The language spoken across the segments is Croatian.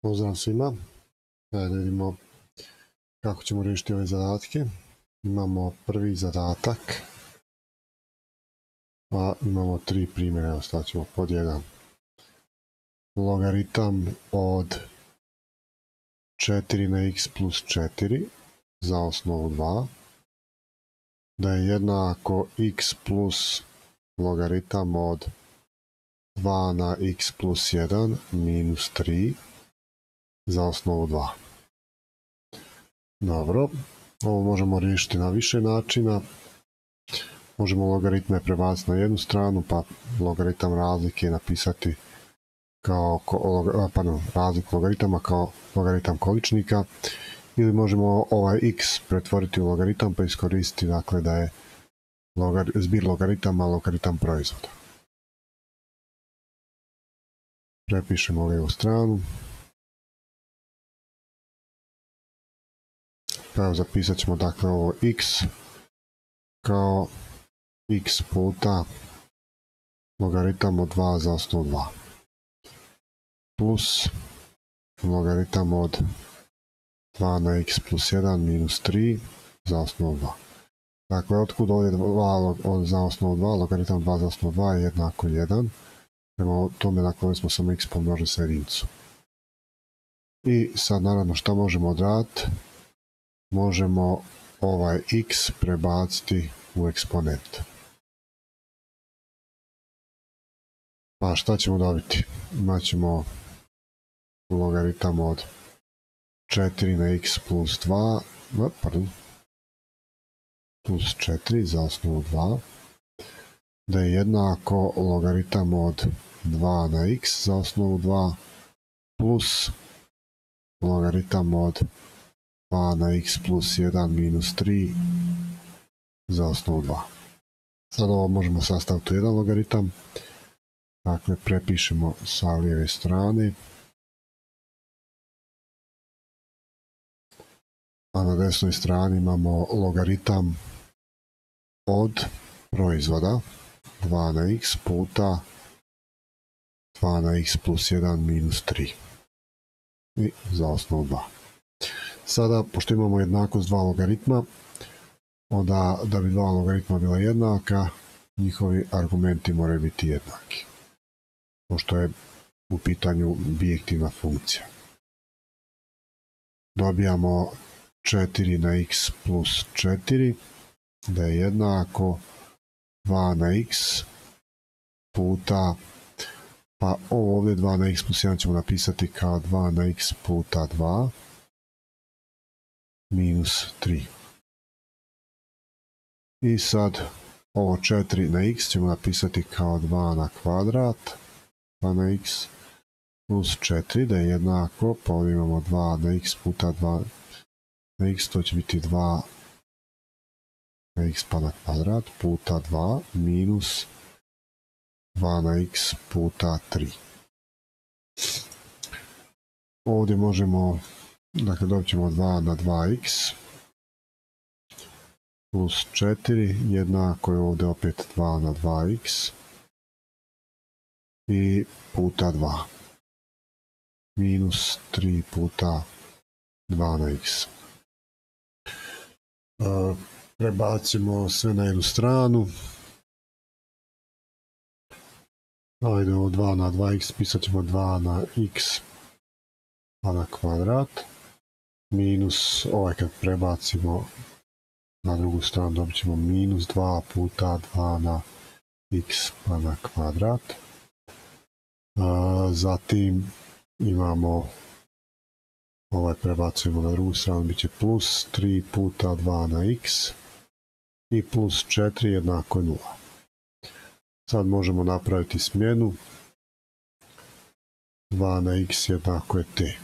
Pozdrav svima. Da vidimo kako ćemo riješiti ove zadatke. Imamo prvi zadatak, pa imamo 3 primjera. Evo stavit ćemo pod 1. Logaritam od 4 na x plus 4 za osnovu 2, da je jednako x plus logaritam od 2 na x plus 1 minus 3 za osnovu 2. Dobro, ovo možemo riješiti na više načina. Možemo logaritme prebaciti na jednu stranu, pa logaritam razlike napisati kao razliku logaritama kao logaritam količnika, ili možemo ovaj x pretvoriti u logaritam pa iskoristiti dakle da je zbir logaritama logaritam proizvoda. Prepišemo lijevu stranu. Pa zapisat ćemo dakle ovo x kao x puta logaritam od 2 za osnovu 2 plus logaritam od 2 na x plus 1 minus 3 za osnovu 2. Dakle, otkud ovdje 2 za osnovu 2, logaritam 2 za osnovu 2 je jednako 1. Prema tome, dakle, ovdje smo samo x pomnožili sa jedinicu. I sad, naravno, što možemo odraditi? Možemo ovaj x prebaciti u eksponent. Pa šta ćemo dobiti? Imaćemo logaritam od 4 na x plus 2, plus 4 za osnovu 2, da je jednako logaritam od 2 na x za osnovu 2 plus logaritam od 2 na x plus 1 minus 3 za osnovu 2. Sad ovo možemo sastaviti u jedan logaritam. Dakle, prepišemo sa lijeve strane. A na desnoj strani imamo logaritam od proizvoda 2 na x puta 2 na x plus 1 minus 3 i za osnovu 2. Sada, pošto imamo jednakost dva logaritma, onda da bi dva logaritma bila jednaka, njihovi argumenti moraju biti jednaki, pošto je u pitanju bijektivna funkcija. Dobijamo 4 na x plus 4, da je jednako 2 na x puta, pa ovo ovdje 2 na x plus 1 ćemo napisati kao 2 na x puta 2 minus 3. I sad ovo 4 na x ćemo napisati kao 2 na kvadrat, 2 na x plus 4, da je jednako, pa ovdje imamo 2 na x puta 2 na x, to će biti 2 na x pa na kvadrat puta 2 minus 2 na x puta 3. Ovdje možemo, dakle dobit ćemo 2 na 2x plus 4, jednako je ovdje opet 2 na 2x i puta 2 minus 3 puta 2 na x. Prebacimo sve na jednu stranu. Ajde, ovo 2 na 2x, pisat ćemo 2 na x pa na kvadrat, minus, ovaj kad prebacimo na drugu stranu dobit ćemo minus 2 puta 2 na x pa na kvadrat. Zatim imamo, ovaj prebacujemo na drugu stranu, bit će plus 3 puta 2 na x i plus 4 jednako je 0. Sad možemo napraviti smjenu. 2 na x jednako je t.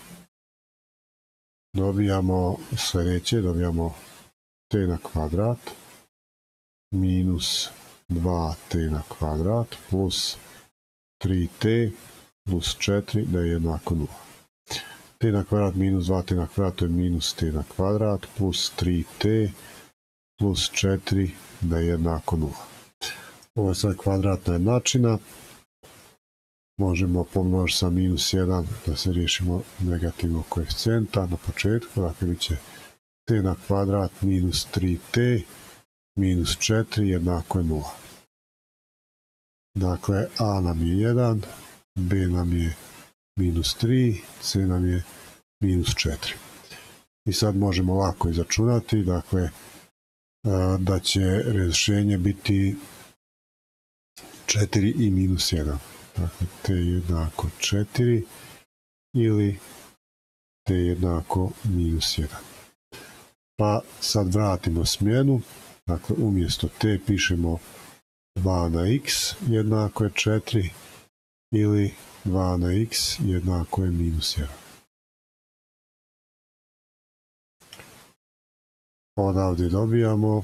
Dobijamo sljedeće, dobijamo t na kvadrat minus 2t na kvadrat plus 3t plus 4 da je jednako 0. T na kvadrat minus 2t na kvadrat, to je minus t na kvadrat plus 3t plus 4 da je jednako 0. Ovo je sad kvadratna jednačina. možemo pomnožiti sa minus 1 da se riješimo negativnog koeficijenta na početku, dakle bit će t na kvadrat minus 3t minus 4 jednako je 0. Dakle, a nam je 1, b nam je minus 3, c nam je minus 4. I sad možemo lako izračunati, dakle, da će rješenje biti 4 i minus 1. Dakle, t jednako 4 ili t jednako minus 1. Pa sad vratimo smjenu, dakle umjesto t pišemo 2 na x jednako je 4 ili 2 na x jednako je minus 1. Odavdje dobijamo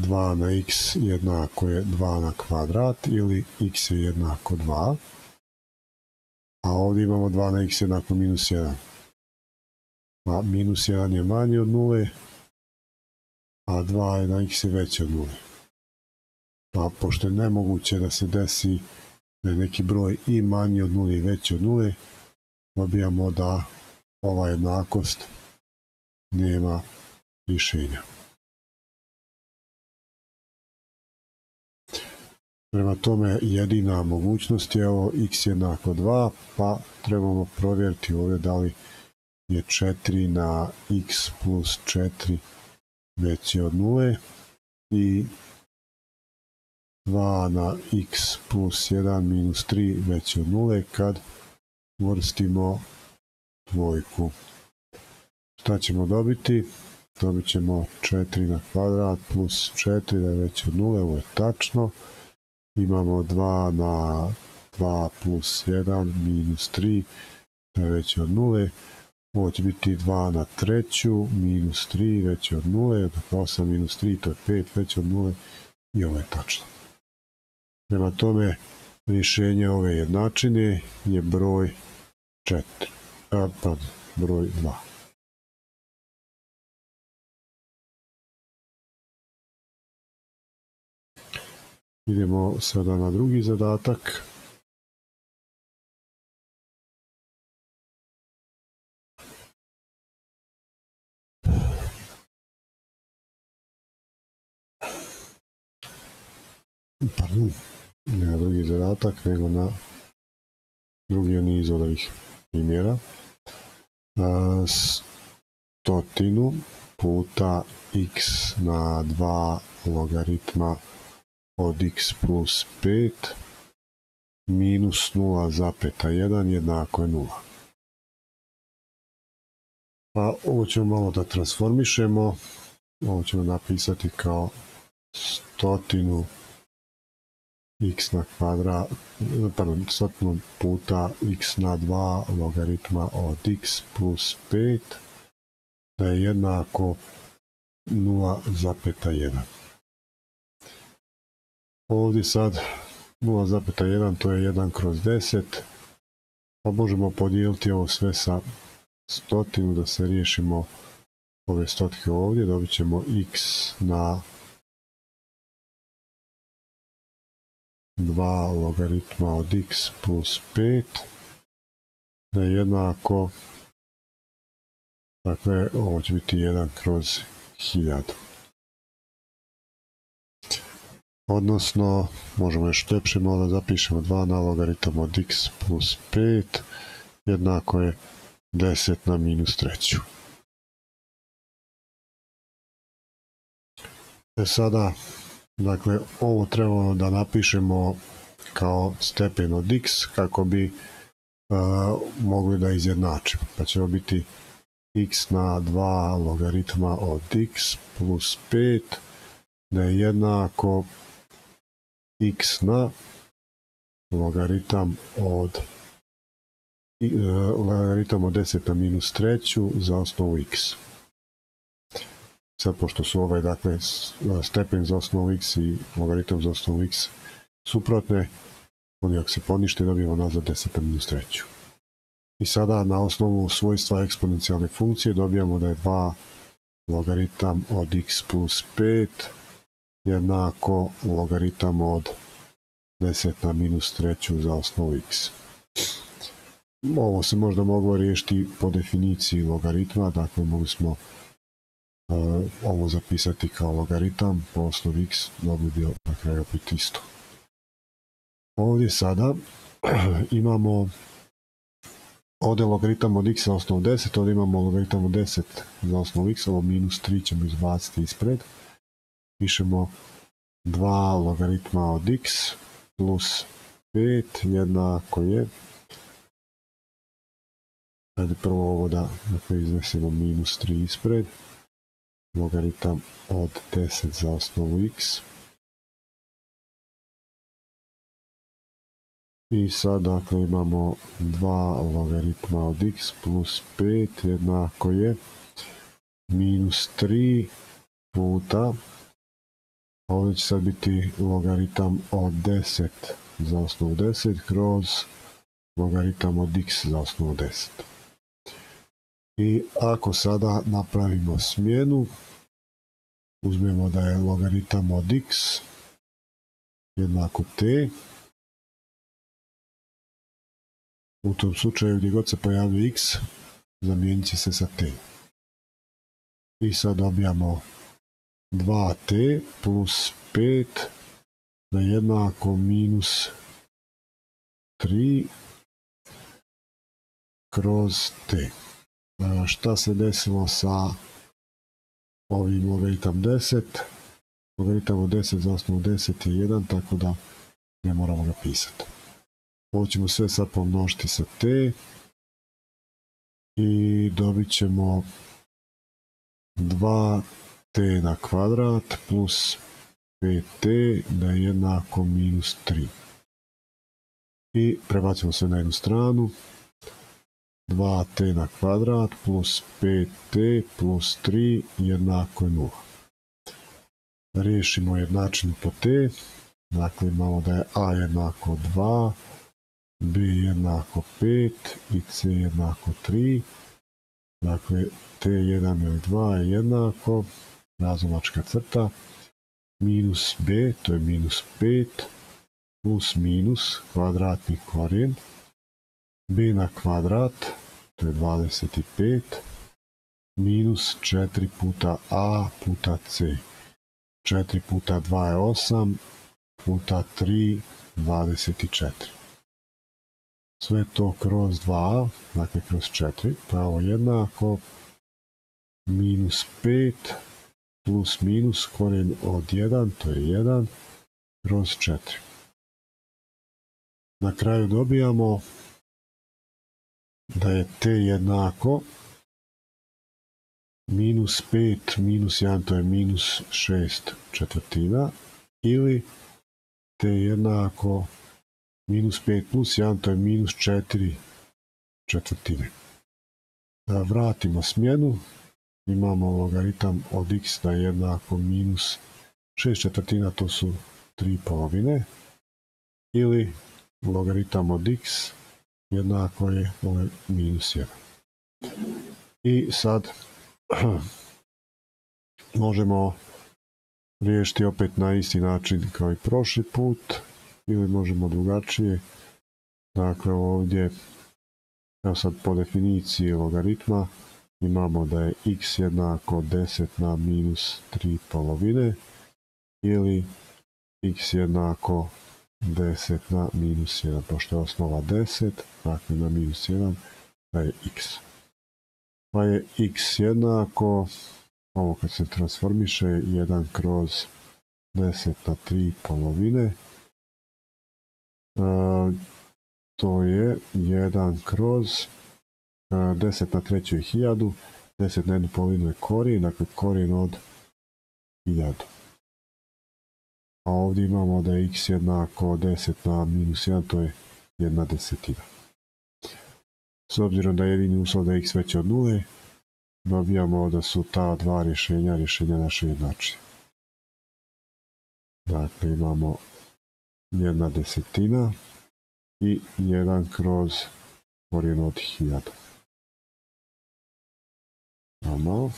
2 na x jednako je 2 na kvadrat ili x je jednako 2. A ovdje imamo 2 na x jednako minus 1. A minus 1 je manji od 0, a 2 na x je veći od 0. Pa pošto je nemoguće da se desi da je neki broj i manji od 0 i veći od 0, dobijamo da ova jednakost nema rješenja. Prema tome jedina mogućnost je ovo x jednako 2, pa trebamo provjeriti ovdje da li je 4 na x plus 4 veći od 0 i 2 na x plus 1 minus 3 veći od 0 kad uvrstimo dvojku. Šta ćemo dobiti? Dobit ćemo 4 na kvadrat plus 4 da je veći od 0, ovo je tačno. Imamo 2 na 2 plus 1 minus 3 da je veći od 0. Ovo će biti 2 na treću minus 3 veći od 0. Dakle 8 minus 3 to je 5 veći od 0 i ovo je tačno. Prema tome rješenje ove jednačine je broj 2. Idemo sada na drugi zadatak. Ne na drugi zadatak, nego na drugi niz od ovih primjera. 100 puta x na 2 logaritma od x plus 5 minus 0,1 jednako je 0. Pa ovo ćemo malo da transformišemo. Ovo ćemo napisati kao 100 x na kvadrat, 100 puta x na 2 logaritma od x plus 5 da je jednako 0,1. Ovdje sad 0,1 to je 1 kroz 10, pa možemo podijeliti ovo sve sa 100 da se riješimo ove stotke ovdje. Dobit ćemo x na 2 logaritma od x plus 5 da je jednako, dakle ovo će biti 1 kroz 1000. Odnosno, možemo još ljepše da zapišemo 2 na logaritam od x plus 5 jednako je 10 na minus 3. Sada, dakle, ovo trebamo da napišemo kao stepen od x kako bi mogli da izjednačimo. Pa će biti x na 2 logaritma od x plus 5 da je jednako x na logaritam od 10 na minus 3 za osnovu x. Sad, pošto su ovaj, dakle, stepen za osnovu x i logaritam za osnovu x suprotne, oni ako se ponište dobijemo nazad 10 na minus 3. I sada na osnovu svojstva eksponencijalne funkcije dobijamo da je 2 logaritam od x plus 5 jednako logaritam od 10 na minus treću za osnovu x. Ovo se možda moglo riješiti po definiciji logaritma, dakle mogli smo ovo zapisati kao logaritam po osnovi x, mogli bi na kraju biti isto. Ovdje sada imamo ovdje logaritam od x za osnovu 10, ovdje imamo logaritam od 10 za osnovu x, ovo minus 3 ćemo izbaciti ispred. Pišemo 2 logaritma od x plus 5 jednako je, ajde prvo ovo da iznesemo minus 3 ispred, logaritam od 10 za osnovu x. I sad dakle imamo 2 logaritma od x plus 5 jednako je minus 3 puta, ovdje će sad biti logaritam od 10 za osnovu 10 kroz logaritam od x za osnovu 10. I ako sada napravimo smjenu, uzmemo da je logaritam od x jednako t, u tom slučaju gdje god se pojavljuje x, zamijenit će se sa t. I sad dobijamo 2t plus 5 da je jednako minus 3 kroz t. Šta se desilo sa ovim logaritam 10? Logaritam od 10 za osnovu 10 je 1, tako da ne moramo ga pisati. Ovo ćemo sve sad pomnožiti sa t i dobit ćemo 2t na kvadrat plus 5t da je jednako minus 3. I prebacimo sve na jednu stranu. 2t na kvadrat plus 5t plus 3 jednako je 0. Riješimo jednačinu po t. Dakle imamo da je a jednako 2, b jednako 5 i c jednako 3. Dakle t1 ili 2 je jednako, razlomačka crta, minus b, to je minus 5, plus minus, kvadratni korijen, b na kvadrat, to je 25, minus 4 puta a puta c. 4 puta 2 je 8, puta 3, 24. Sve to kroz 2a, dakle kroz 4, pa je ovo jednako minus 5 plus minus korijen od 1, to je 1, kroz 4. Na kraju dobijamo da je t jednako minus 5 minus 1, to je minus 6 četvrtina, ili t jednako minus 5 plus 1, to je minus 4 četvrtine. Da vratimo smjenu, imamo logaritam od x da je jednako minus 6 četvrtina, to su 3 polovine, ili logaritam od x jednako je minus 1. I sad možemo riješiti opet na isti način kao i prošli put, ili možemo drugačije. Dakle ovdje, evo sad po definiciji logaritma, imamo da je x jednako 10 na minus 3 polovine, ili x jednako 10 na minus 1, pošto je osnova 10, dakle na minus 1, da je x. Pa je x jednako, ovo kad se transformiše, 1 kroz 10 na 3 polovine, to je 1 kroz 10 na treću je 1000, 10 na jednu polovinu je korijen, dakle korijen od 1000. A ovdje imamo da je x jednako 10 na minus 1, to je 1/10. S obzirom da je jedini uslov da je x veće od 0, dobijamo da su ta dva rješenja naše jednačine. Dakle imamo 1/10 i 1 kroz korijen od 1000. Normalno.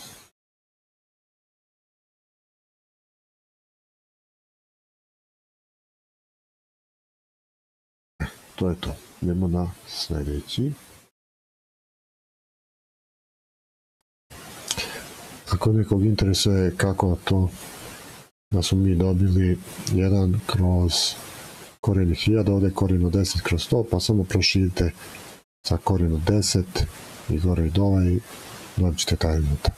to je to. Idemo na sljedeći. Ako nekog interesuje kako to da smo mi dobili 1 kroz korijen 1000, ovdje je korijen od 10 kroz 100, pa samo proširite sa korijen od 10 i gore i dole i dobit ćete taj rezultat.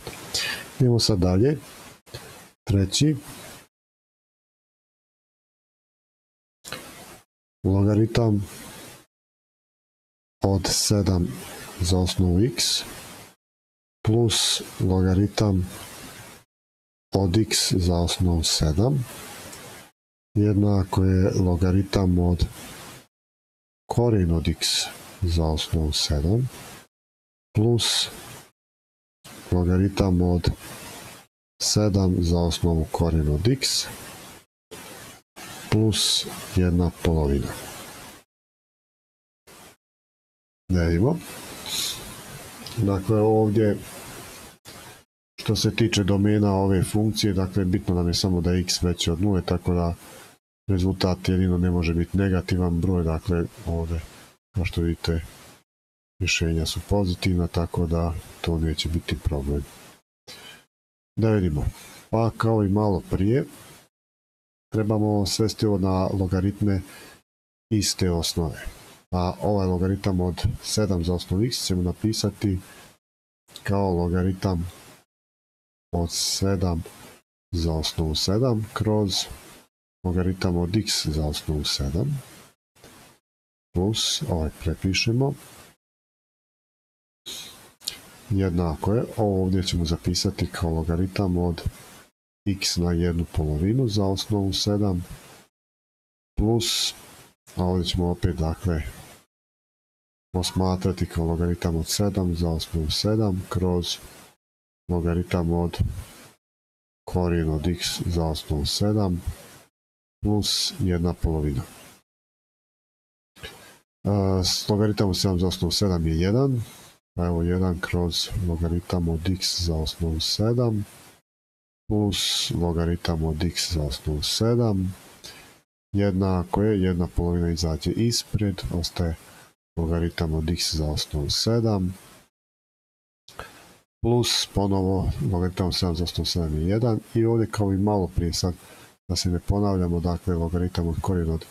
Idemo sad dalje. Treći. Logaritam od 7 za osnovu x plus logaritam od x za osnovu 7 jednako je logaritam od korijen od x za osnovu 7 plus logaritam od 7 za osnovu korijen od x plus 1/2. Ne vidimo. Dakle, ovdje što se tiče domena ove funkcije, dakle, bitno nam je samo da je x veći od 0, tako da rezultat jedino ne može biti negativan broj, dakle, ovdje, kao što vidite, rješenja su pozitivna, tako da to neće biti problem. Da vidimo. Pa, kao i malo prije, trebamo svesti ovo na logaritme iste osnove. A ovaj logaritam od 7 za osnovu x ćemo napisati kao logaritam od 7 za osnovu 7 kroz logaritam od x za osnovu 7 plus, ovaj prepišemo, jednako je, ovo ovdje ćemo zapisati kao logaritam od x na 1/2 za osnovu 7 plus, a ovdje ćemo opet, dakle, posmatrati kao logaritam od 7 za osnovu 7 kroz logaritam od korijen od x za osnovu 7 plus 1/2. Logaritam od 7 za osnovu 7 je 1, pa evo 1 kroz logaritam od x za osnovu 7 plus logaritam od x za osnovu 7 jednako je 1/2 izađe ispred, ostaje logaritam od x za osnovu 7 plus ponovo logaritam od 7 za osnovu 7 je 1 i ovdje kao i malo prije, sad da se ne ponavljamo, dakle logaritam od korijen od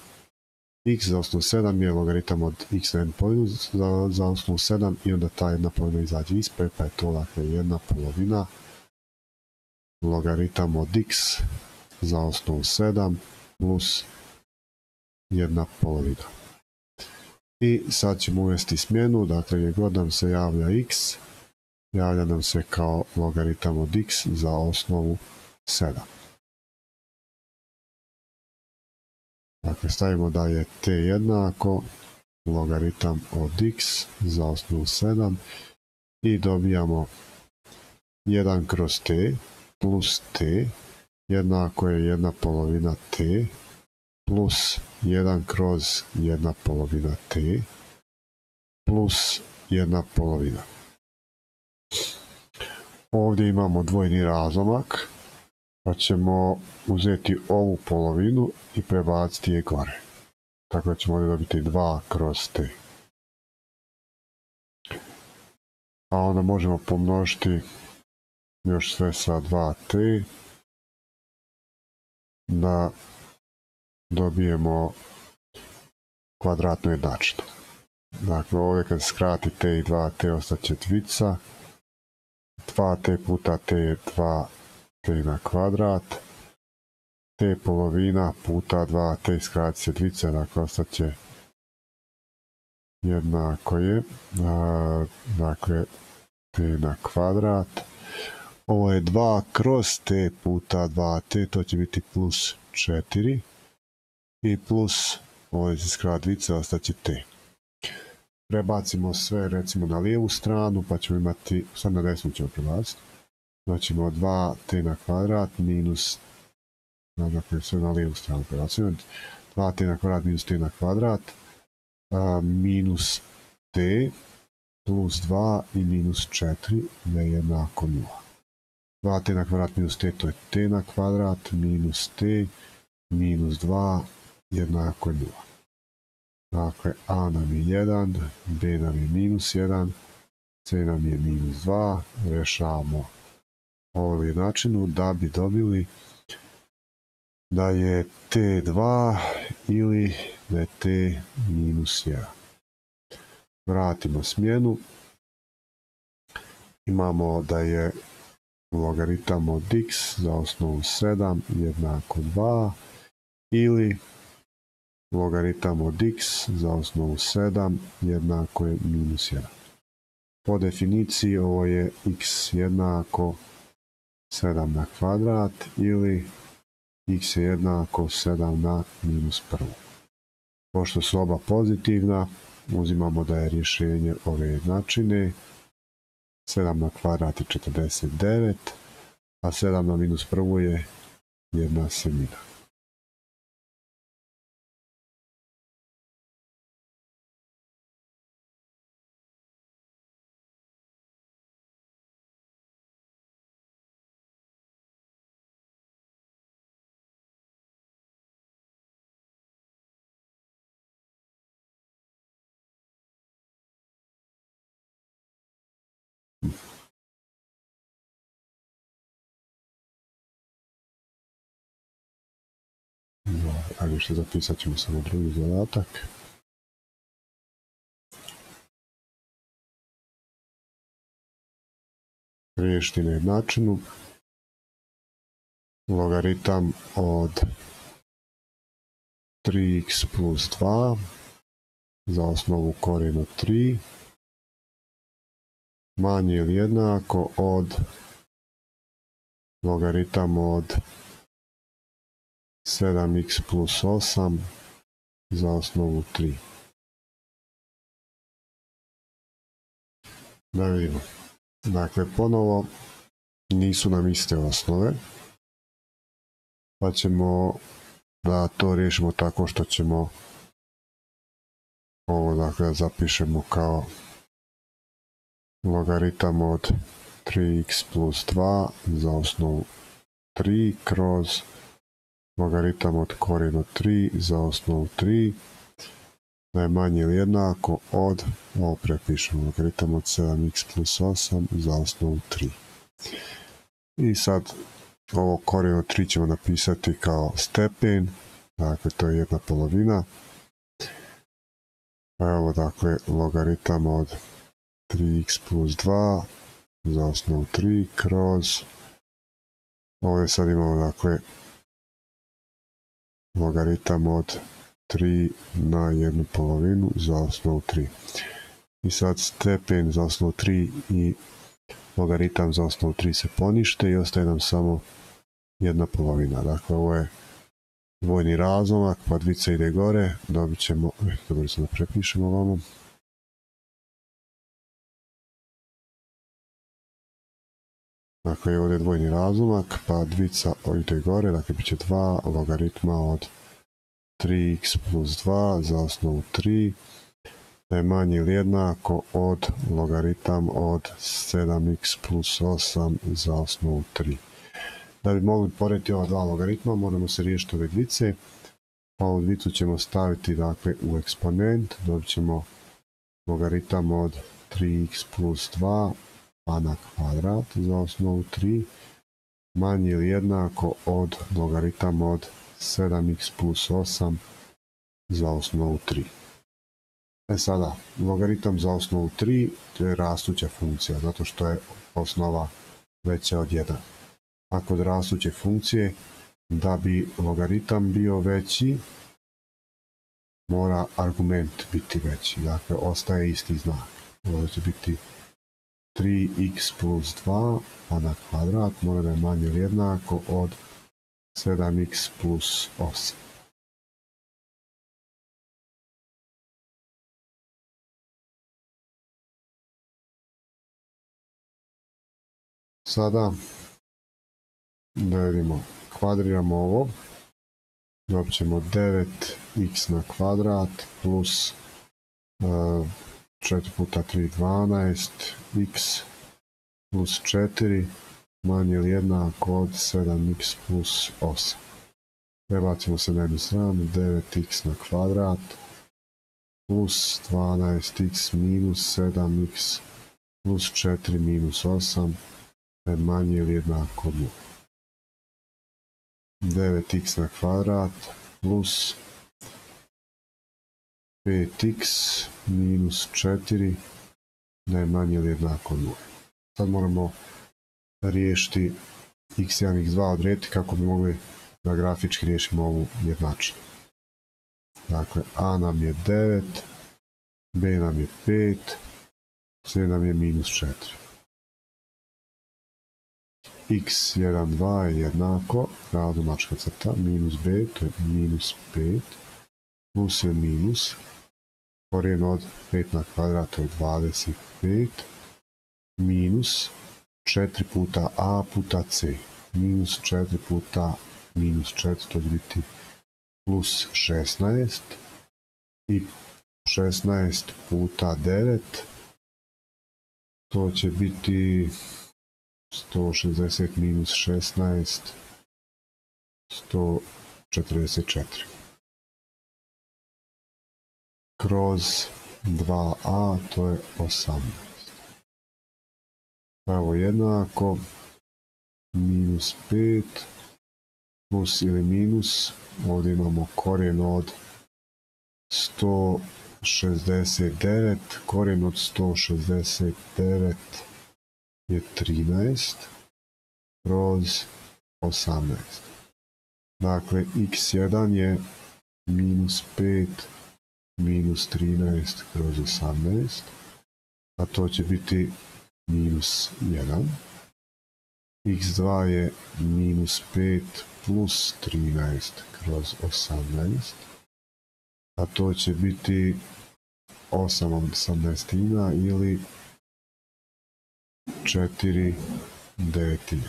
x za osnovu 7 je logaritam od x na 1/2 za osnovu 7 i onda ta 1/2 izađe ispred, pa je to, dakle, 1/2 logaritam od x za osnovu 7 plus 1/2. I sad ćemo uvesti smjenu, dakle gdje god nam se javlja x, javlja nam se kao logaritam od x za osnovu 7. Dakle, stavimo da je t jednako logaritam od x za osnovu 7 i dobijamo 1 kroz t plus t jednako je 1/2 t plus 1 kroz 1/2 t plus 1/2. Ovdje imamo dvojni razlomak, pa ćemo uzeti ovu polovinu i prebaciti je gore. Tako da ćemo ovdje dobiti 2 kroz t. A onda možemo pomnožiti još sve sa 2t da dobijemo kvadratnu jednačinu. Dakle, ovdje kad skrati t i 2t ostaće dvica. 2t puta t je 2t na kvadrat. T polovina puta 2t skrati se dvica, dakle ostaće jednako je, dakle, t na kvadrat. Ovo je 2 kroz t puta 2t, to će biti plus 4. I plus, ovdje se skrati dvica, ostaće t. Prebacimo sve, recimo, na lijevu stranu, pa ćemo imati, sad na desnu ćemo prebaciti. Znači imamo 2t na kvadrat minus, dakle sve na lijevu stranu prebacimo, 2t na kvadrat minus t na kvadrat, minus t plus 2 i minus 4 je jednako 0. 2t na kvadrat minus t, to je t na kvadrat, minus t minus 2 jednako 0. Dakle, a nam je 1, b nam je minus 1, c nam je minus 2. Rešavamo ovu jednačinu da bi dobili da je t2 ili da je t minus 1. Vratimo smjenu. Imamo da je logaritam od x za osnovu 7 jednako 2 ili logaritam od x za osnovu 7 jednako je minus 1. Po definiciji ovo je x jednako 7 na kvadrat ili x je jednako 7 na minus 1. Pošto su oba pozitivna, uzimamo da je rješenje ove jednačine 7 na kvadrat je 49, a 7 na minus 1 je 1/7. Ali što zapisat ćemo samo drugi zadatak. Riješiti na jednačinu. Logaritam od 3x plus 2 za osnovu korijen od 3 manje ili jednako od logaritam od 7x plus 8 za osnovu 3. Da vidimo. Dakle, ponovo nisu nam iste osnove, pa ćemo da to riješimo tako što ćemo ovo dakle zapišemo kao logaritam od 3x plus 2 za osnovu 3 kroz logaritam od korijen od 3 za osnovu 3 da je manje ili jednako od, ovo prepišemo, logaritam od 7x plus 8 za osnovu 3. I sad ovo korijen od 3 ćemo napisati kao stepen, dakle to je 1/2. Evo dakle logaritam od 3x plus 2 za osnovu 3 kroz, ovdje sad imamo dakle logaritam od 3 na 1/2 za osnovu 3. I sad stepen za osnovu 3 i logaritam za osnovu 3 se ponište i ostaje nam samo 1/2. Dakle, ovo je dvojni razlomak, pa dvica ide gore, dobit ćemo, dobro se da prepišemo ovamo. Dakle, ovdje je dvojni razlomak, pa dvica ide gore, dakle bit će 2 logaritma od 3x plus 2 za osnovu 3, da je manje ili jednako od logaritam od 7x plus 8 za osnovu 3. Da bi mogli porediti ova dva logaritma, moramo se riješiti ove dvice, pa ovu dvicu ćemo staviti dakle u eksponent, dobit ćemo logaritam od 3x plus 2 a na kvadrat za osnovu 3 manje ili jednako od logaritam od 7x plus 8 za osnovu 3. Sada, logaritam za osnovu 3 to je rastuća funkcija, zato što je osnova veća od 1. A kod rastuće funkcije, da bi logaritam bio veći, mora argument biti veći, dakle ostaje isti znak. Ovo će biti 3x plus 2 a na kvadrat mora da je manje ili jednako od 7x plus 8. Sada da vidimo, kvadriramo ovo, dobit ćemo 9x na kvadrat plus 4 puta 3 12 x plus 4 manje ili jednako od 7x plus 8. Prebacimo se na jednu stranu, 9x na kvadrat plus 12x minus 7x plus 4 minus 8 je manje ili jednako 0. 9x na kvadrat plus 5x minus 4 da je manje ili jednako 0. Sad moramo riješiti x1, x2 odrediti kako bi mogli da grafički riješimo ovu jednačinu. Dakle, a nam je 9, b nam je 5, c nam je minus 4. x1, 2 je jednako, ravnomačka crta, minus b, to je minus 5, plus je minus, korijen od 5 na kvadrat, to je 25, minus 4 puta a puta c, minus 4 puta minus 4, to će biti plus 16, i 16 puta 9, to će biti 160 minus 16, 144. Kroz 2a, to je 18. Pravo jednako, minus 5, plus ili minus, ovdje imamo korijen od 169, korijen od 169 je 13, kroz 18. Dakle, x1 je minus 5 minus 13 kroz 18, a to će biti minus 1. x2 je minus 5 plus 13 kroz 18, a to će biti 8/18 ili 4/9.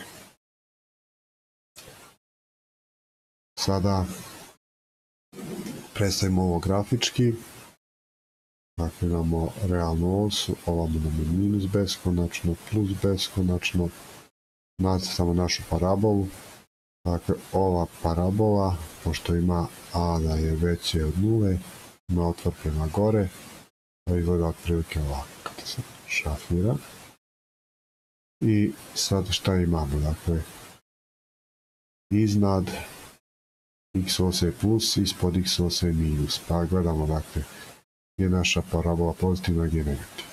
Sada predstavimo ovo grafički. Dakle, imamo realnu osu, ovamo nam je minus beskonačno, plus beskonačno, nacrtamo našu parabolu. Dakle, ova parabola, pošto ima a da je veće od 0, ima otvor prema gore, to izgleda otprilike ovako, kada se šafira. I sad šta imamo? Dakle, iznad x ose je plus, ispod x ose je minus. Pa gledamo, dakle, gdje je naša parabola pozitivna, gdje je negativna.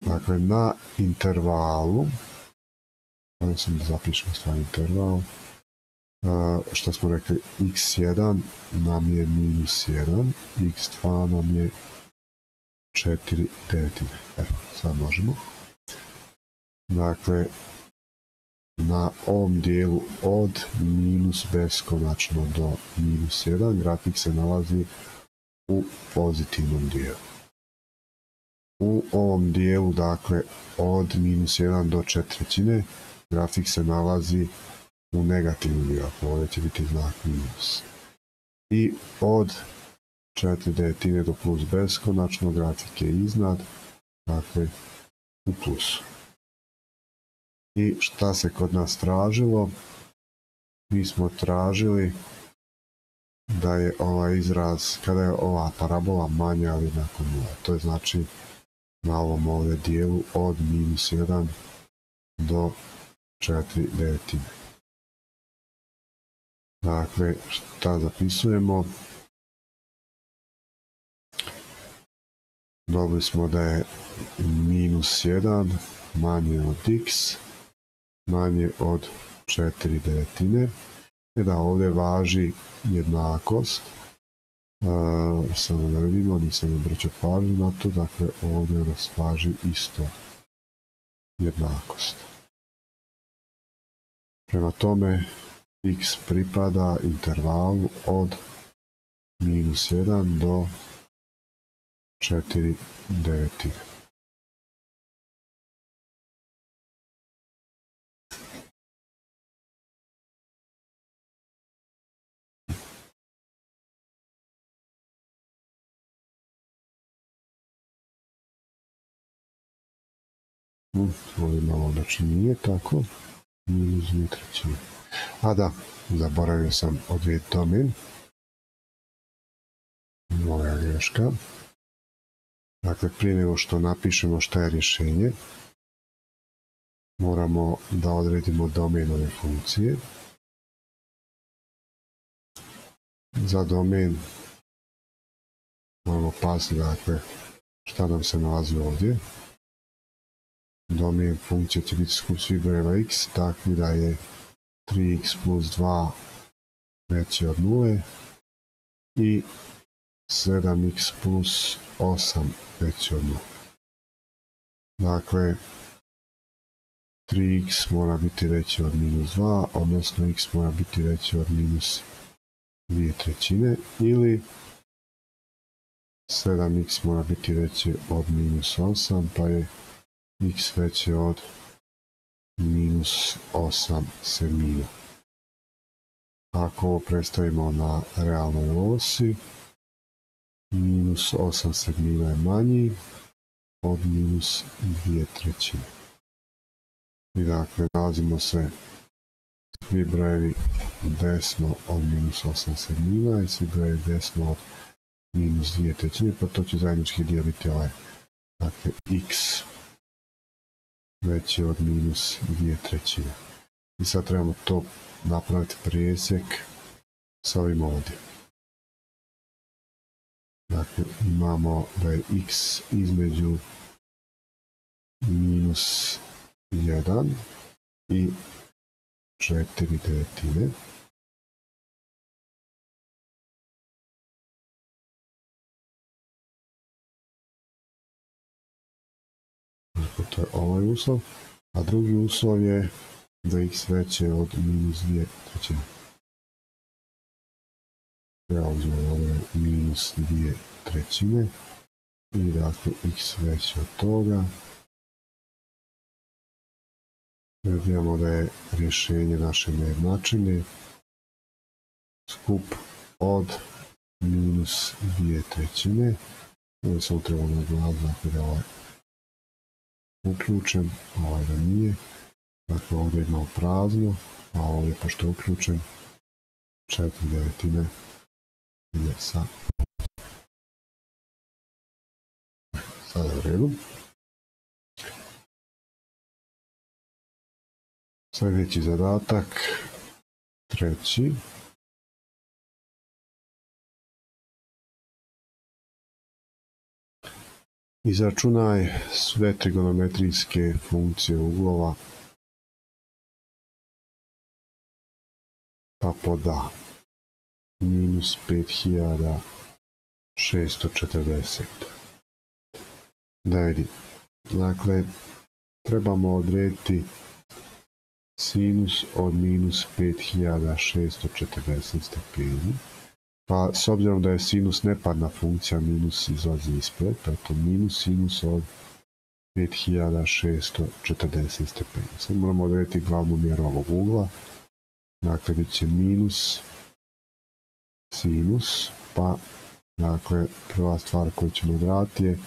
Dakle, na intervalu, ovdje sam da zapišem stvar interval, što smo rekli, x1 nam je minus 1, x2 nam je 4/9. Evo, sad možemo. Dakle, na ovom dijelu od minus beskonačno do minus 1 grafik se nalazi u pozitivnom dijelu. U ovom dijelu, dakle, od minus 1 do 4/3 grafik se nalazi u negativnom dijelu, ovdje će biti znak minus. I od 4/9 do plus beskonačno grafik je iznad, dakle, u plusu. I šta se kod nas tražilo? Mi smo tražili da je ovaj izraz, kada je ova parabola manja ili jednako 0. To je znači na ovom ovdje dijelu od minus 1 do 4/9. Dakle, šta zapisujemo? Dobili smo da je minus 1 manje od x, manje od 4/9. I da ovdje važi jednakost. Samo da vidimo, nisam obraćao pažnju na to, dakle ovdje nas važi isto jednakost. Prema tome, x pripada intervalu od minus 1 do 4/9. Ovdje malo znači nije tako, minus 2/3. A da, zaboravio sam odrediti domen. Moja greška. Dakle, prije nego što napišemo šta je rješenje, moramo da odredimo domen ove funkcije. Za domen moramo paziti, dakle, šta nam se nalazi ovdje. Domen funkcije će biti skup svih brojeva x, takvi da je 3x plus 2 veći od 0 i 7x plus 8 veći od 0. Dakle, 3x mora biti veći od minus 2, odnosno x mora biti veći od minus 2/3, ili 7x mora biti veći od minus 8, pa je x veće od minus 8/7. Ako ovo predstavimo na realnoj osi, minus 8/7 je manji od minus 2/3. I dakle, nalazimo se svi brojevi desno od minus 8/7 i svi brojevi desno od minus 2/3, pa to će zajednički dijeliti ovaj. Dakle, x veći od minus 2/3. I sad trebamo to napraviti presjek sa ovim ovdje. Dakle, imamo da je x između minus 1 i 4/9. Dakle, to je ovaj uslov. A drugi uslov je da je x veće od minus 2/3. Ja uzmem ove minus 2/3 i dakle x veće od toga. Vidimo da je rješenje naše nejednačine skup od minus 2/3. Ovo sam trebalo naglasiti, dakle da je ovaj uključen, ovaj da nije. Dakle, ovdje imamo prazno, a ovdje pošto je uključen 4/9 ide sa. Sada je u redu. Sljedeći zadatak, treći. Izračunaj sve trigonometrijske funkcije uglova pa poda minus 5640. Da vidim. Dakle, trebamo odrediti sinus od minus 5640 stepeni. Pa s obzirom da je sinus neparna funkcija, minus izlazi ispred, pa je to minus sinus od 5640 stepeni. Sad moramo odrediti glavnu mjeru ovog ugla. Dakle, bit će minus sinus, pa dakle, prva stvar koju ćemo odraditi je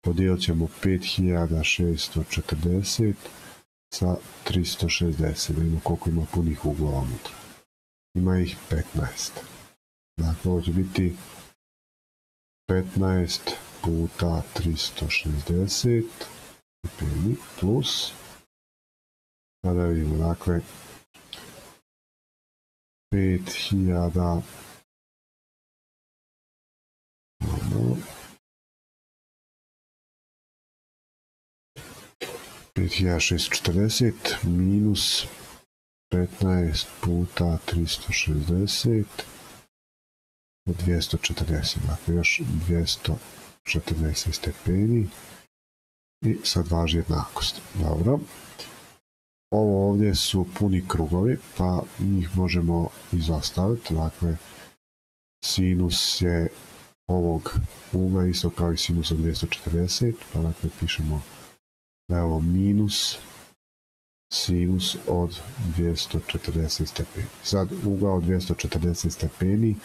podijelit ćemo 5640 sa 360, da vidimo koliko ima punih uglova unutra. Ima ih 15. Dakle, ovo će biti 15 puta 360 stepeni plus, sada vidimo, dakle, 5000 5640 minus 15 puta 360 od 240, dakle još 240 stepeni i sad važi jednakost. Dobro. Ovo ovdje su puni krugovi, pa njih možemo izostaviti. Dakle, sinus je ovog ugla isto kao i sinus od 240, pa dakle pišemo da je ovo minus sinus od 240 stepeni. Sad ugao od 240 stepeni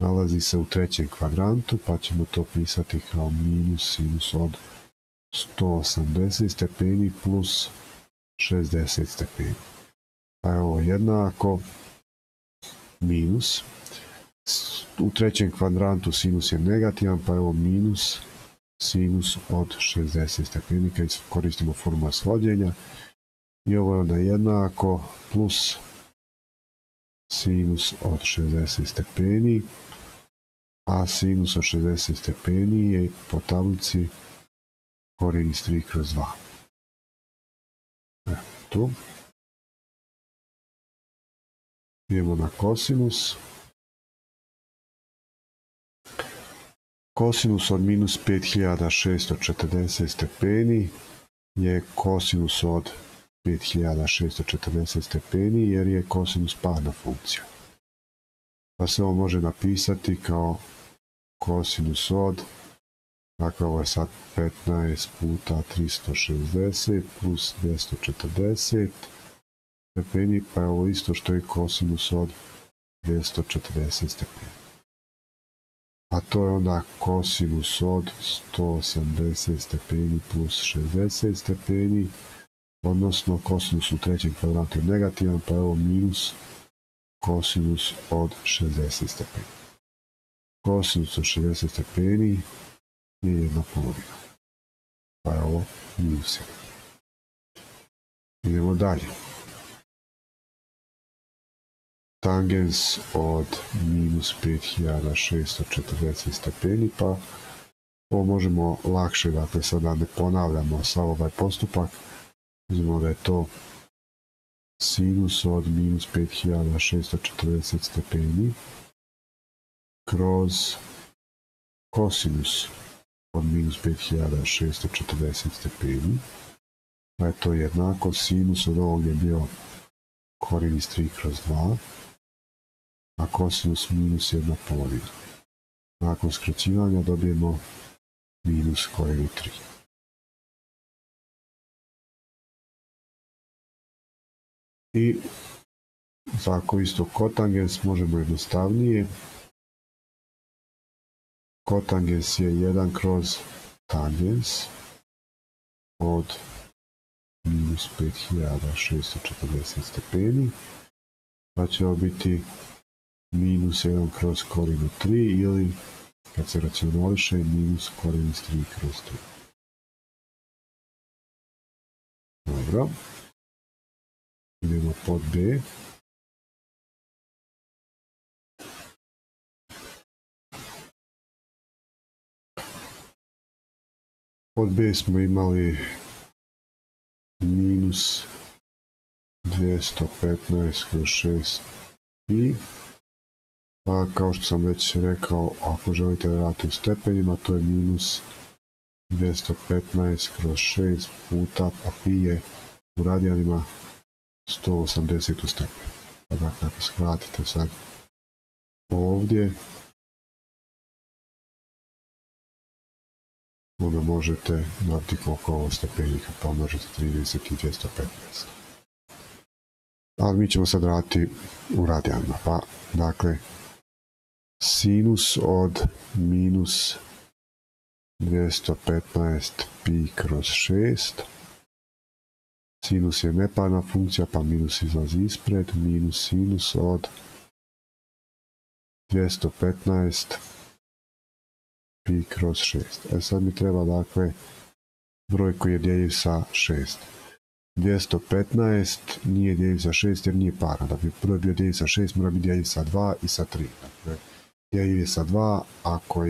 nalazi se u trećem kvadrantu, pa ćemo to pisati kao minus sinus od 180 stepeni plus 60 stepeni. Pa je ovo jednako minus. U trećem kvadrantu sinus je negativan, pa je ovo minus sinus od 60 stepeni kad koristimo formulu svođenja. I ovo je onda jednako plus sinus od 60 stepeni, a sinus od 60 stepeni je po tablici korijen iz 3 kroz 2. Tu. Idemo na kosinus. Kosinus od minus 5640 stepeni je kosinus od 5640 stepeni jer je kosinus parna funkcija. Pa se ovo može napisati kao kosinus od, dakle ovo je sad 15 puta 360 plus 240 stepeni, pa je ovo isto što je kosinus od 240 stepeni. A to je onda kosinus od 180 stepeni plus 60 stepeni, odnosno kosinus u trećem kvadrantu je negativan, pa je ovo minus kosinus od 60 stepeni. Kosinus od 60 stepeni je 1/2, pa je ovo minus 1. Idemo dalje. Tangens od minus 5640 stepeni, pa ovo možemo lakše, dakle sada ne ponavljamo sav ovaj postupak, uzmemo da je to sinus od minus 5640 stepeni kroz kosinus od minus 5640 stepeni, pa je to jednako sinus od ovog je bio korijen iz 3 kroz 2, a kosinus minus 1/2. Nakon skraćivanja dobijemo minus korijen u 3. I tako isto kotangens možemo jednostavnije. Kotangens je 1 kroz tangens od minus 5640 stepeni, pa će ovo biti minus 1 kroz korijen u 3 ili kad se racionališe minus korijen iz 3 kroz 3. Dobro. Idemo pod B. Pod B smo imali minus 215 kroz 6 pi. Pa kao što sam već rekao, ako želite da radite u stepenima, to je minus 215 kroz 6 puta, pa pi je u radijanima 180 u stepenu. Pa dakle, ako skratite sad ovdje, onda možete dati koliko ovo stepenika, pa možete 30 i 215. Ali mi ćemo sad raditi u radijanima, pa dakle, sinus od minus 215 pi kroz 6. Sinus je neparna funkcija, pa minus izlazi ispred. Minus sinus od 215 pi kroz 6. Sad mi treba, dakle, broj koji je djeljiv sa 6. 215 nije djeljiv sa 6 jer nije paran. Da bi broj bio djeljiv sa 6, mora biti djeljiv sa 2 i sa 3. Dakle, djeljiv je sa 2 ako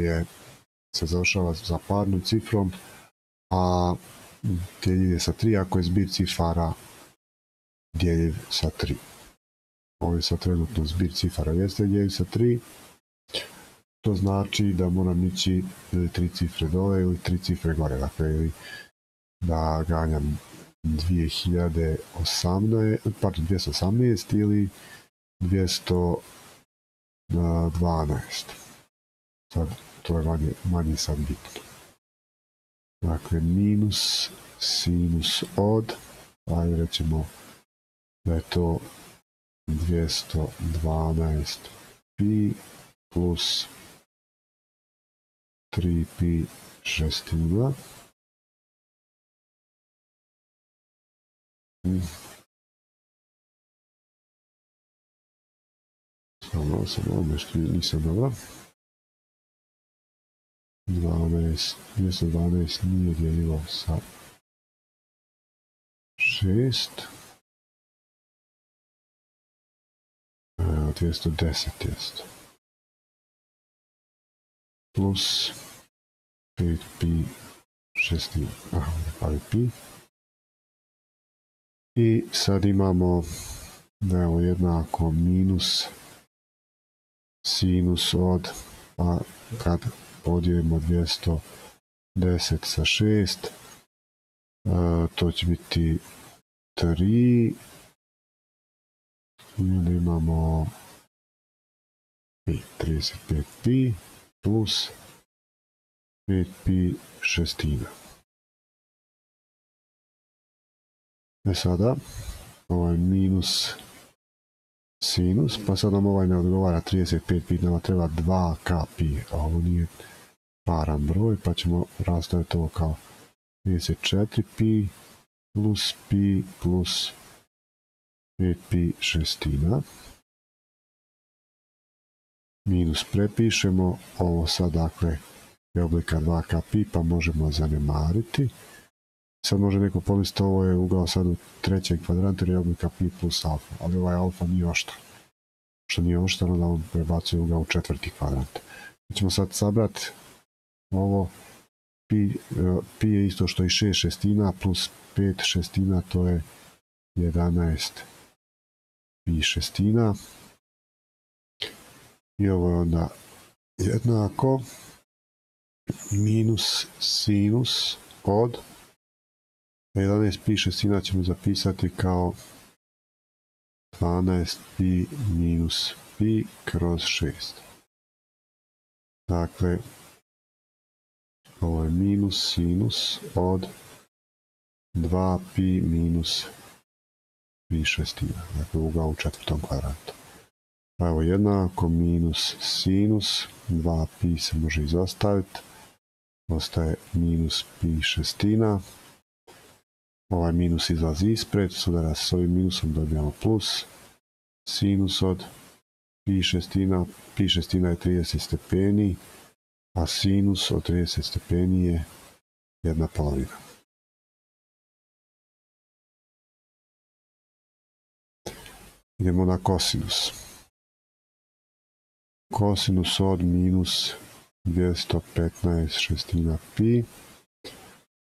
se završava za parnom cifrom, a djeljiv je sa 3 ako je zbir cifara djeljiv sa 3. Ovo je sad trenutno zbir cifara jeste djeljiv sa 3. To znači da moram ići ili 3 cifre dole ili 3 cifre gore. Dakle, ili da ganjam 218 ili 212. Sad, to je manje sad bitno. Dakle, minus sinus od, ajde rećemo da je to 212 pi plus 3 pi šestina. Samo nešto nisam dobro. 212 nije dijeljivo sa 6. 210 jest. Plus 5pi šestina. Pa pi. I sad imamo da je ovo jednako minus sinus od, pa kad podijelimo 210 sa 6, to će biti 3, i onda imamo 35pi plus 5pi šestina. Sada ovaj minus sinus, pa sad nam ovaj ne odgovara 35 pi, nama treba 2k pi, a ovo nije paran broj, pa ćemo rastaviti ovo kao 34 pi plus 5 pi šestina. Minus prepišemo, ovo sad dakle je oblika 2k pi, pa možemo zanemariti. Sad može neko pomisliti ovo je ugao sad u trećem kvadrantu jer je oblika pi plus alfa, ali ovaj alfa nije oštar. Što nije oštar, onda on prebacuje ugao u četvrti kvadrant. Mi ćemo sad sabrati ovo, pi je isto što i 6 šestina plus 5 šestina, to je 11 pi šestina. I ovo je onda jednako minus sinus od 11 pi šestina ćemo zapisati kao 12 pi minus pi kroz 6. Dakle, ovo je minus sinus od 2 pi minus pi šestina. Dakle, ugao u četvrtom kvadrantu. Pa evo jednako minus sinus, 2 pi se može izostaviti. Ostaje minus pi šestina. Ovaj minus izlazi ispred, sudara s ovim minusom dobijamo plus. Sinus od pi šestina je 30 stepeni, a sinus od 30 stepeni je 1/2. Idemo na kosinus. Kosinus od minus 215 šestina pi,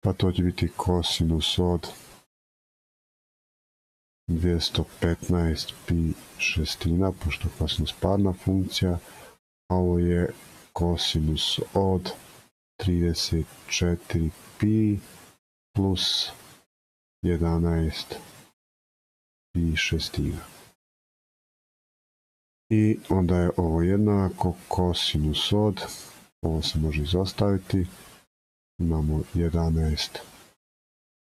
pa to će biti kosinus od 215 pi šestina, pošto je kosinus parna funkcija, a ovo je kosinus od 34 pi plus 11 pi šestina. I onda je ovo jednako kosinus od, ovo se može izostaviti, imamo 11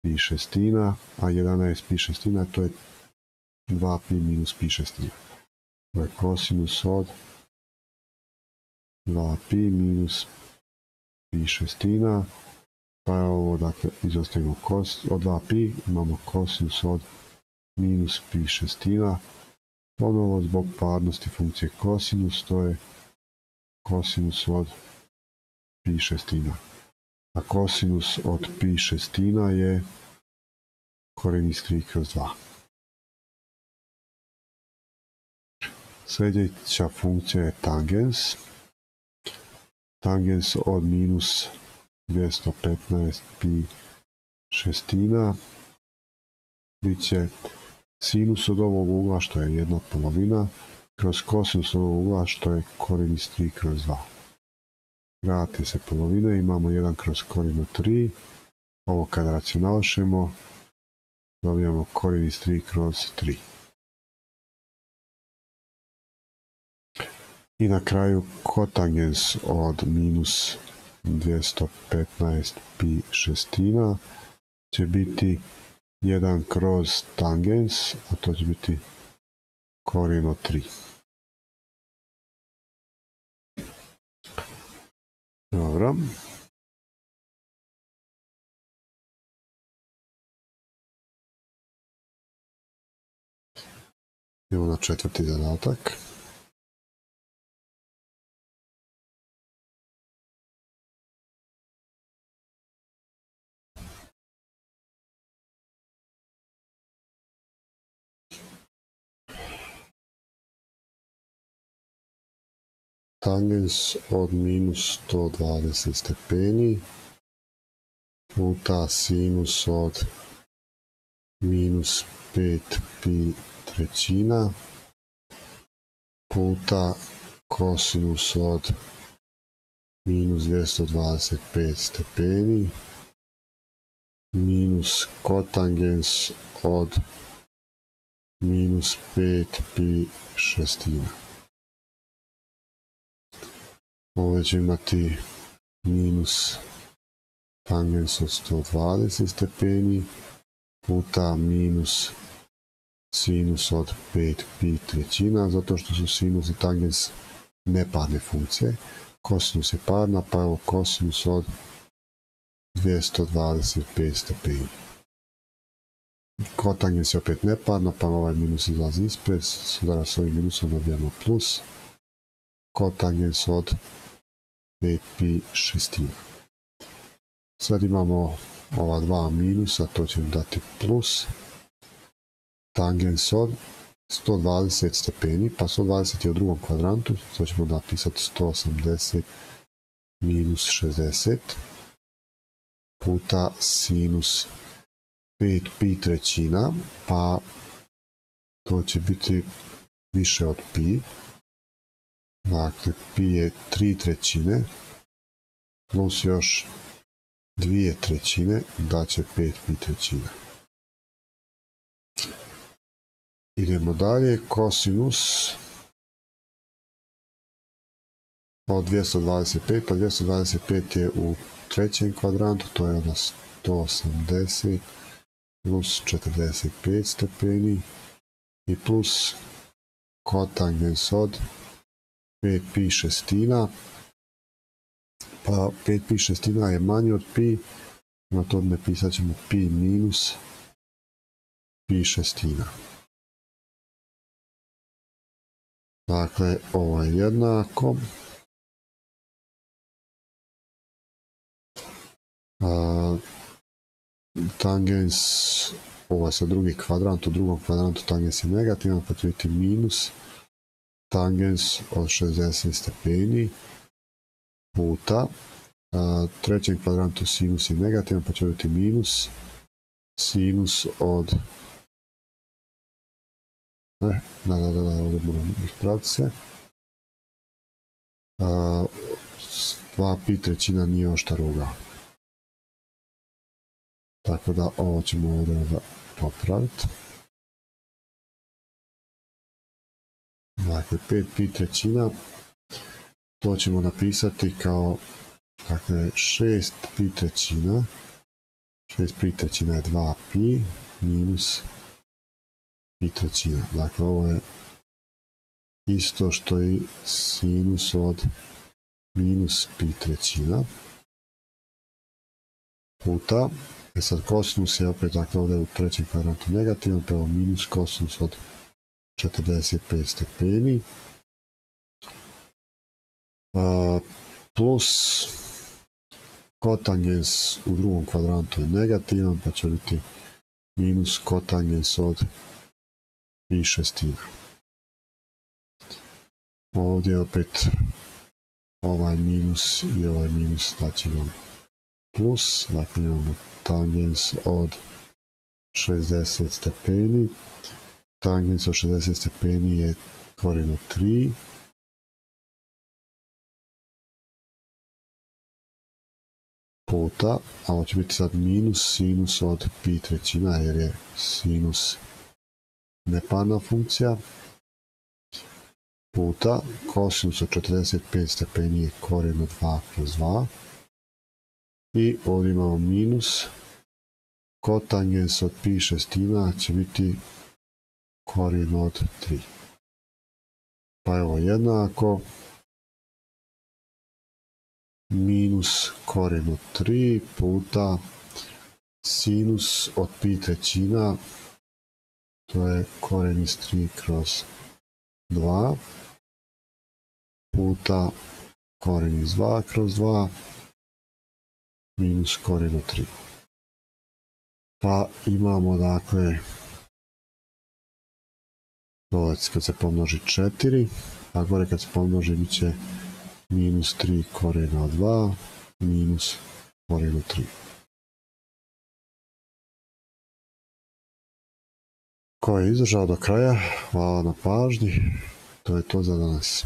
pi šestina, a 11 pi šestina to je 2 pi minus pi šestina. To je kosinus od 2 pi minus pi šestina, pa je ovo, dakle, izostavimo od 2 pi, imamo kosinus od minus pi šestina. Ponovo zbog parnosti funkcije kosinus, to je kosinus od pi šestina. A kosinus od pi šestina je korijen iz 3/2. Sljedeća funkcija je tangens. Tangens od minus 215 pi šestina bit će sinus od ovog ugla, što je 1/2, kroz kosinus ovog ugla, što je korijen iz 3/2. Vrate se polovine, imamo 1 kroz korijen od 3. Ovo kad racionališemo, dobijamo korijen iz 3/3. I na kraju kotangens od minus 215 pi šestina će biti 1 kroz tangens, a to će biti korijen od 3. Dobro. Idemo na četvrti zadatak. tangens od minus 120 stepeni puta sinus od minus 5 pi trećina puta kosinus od minus 225 stepeni minus kotangens od minus 5 pi šestina. Ovo će imati minus tangens od 120 stepeni puta minus sinus od 5 pi trećina, zato što su sinus i tangens neparne funkcije. Kosinus je parna, pa evo kosinus od 225 stepeni. Kotangens je opet neparna, pa ovaj minus izlazi ispred, sudara s ovim minusom dobijamo plus. Kotangens od 5 pi šestina. Sad imamo ova dva minusa, to će dati plus. Tangens od 120 stepeni, pa 120 je u drugom kvadrantu, to ćemo napisati 180 minus 60 puta sinus 5 pi trećina, pa to će biti više od pi. Dakle, pi je 3 trećine plus još 2 trećine, daće 5 pi trećina. Idemo dalje, kosinus od 225, pa 225 je u trećem kvadrantu, to je onda 180 plus 45 stepeni i plus kotangens od 5 pi šestina, pa 5 pi šestina je manje od pi, na to napisat ćemo pi minus pi šestina. Dakle, ovo je jednako. Tangens, ovo je sa drugi kvadrant, u drugom kvadrantu tangens je negativan, pa će biti minus tangens od 60 stepeni puta trećem kvadrantu sinus je negativan, pa će biti minus sinus od ovdje moram ispraviti se. 2 pi trećina nije oštar ugao. Tako da ovo ćemo ovdje popraviti. Dakle, 5 pi trećina, to ćemo napisati kao, dakle, 6 pi trećina. 6 pi trećina je 2 pi minus pi trećina. Dakle, ovo je isto što i sinus od minus pi trećina puta. Sad kosinus je opet, dakle, ovdje u trećem kvadrantu negativan, pa minus kosinus od 45 stepeni plus kotangens u drugom kvadrantu je negativan, pa će biti minus kotangens od pi šestina. Ovdje opet ovaj minus i ovaj minus, znači nam plus, dakle imamo tangens od 60 stepeni. Tangens od 60 stepeni je korijen od 3. Puta, a ovo će biti sad minus sinus od pi trećina, jer je sinus neparna funkcija. Puta, kosinus od 45 stepeni je korijen od 2 kroz 2. I ovdje imamo minus kotangens od pi šestina će biti korijen od 3. Pa evo jednako minus korijen od 3 puta sinus od pi trećina, to je korijen iz 3 kroz 2 puta korijen iz 2 kroz 2 minus korijen od 3. Pa imamo, dakle, dole kad se pomnoži 4, a gore kad se pomnoži bit će minus 3 korijena od 2 minus korijen od 3. Ko je izdržao do kraja, hvala na pažnji, to je to za danas.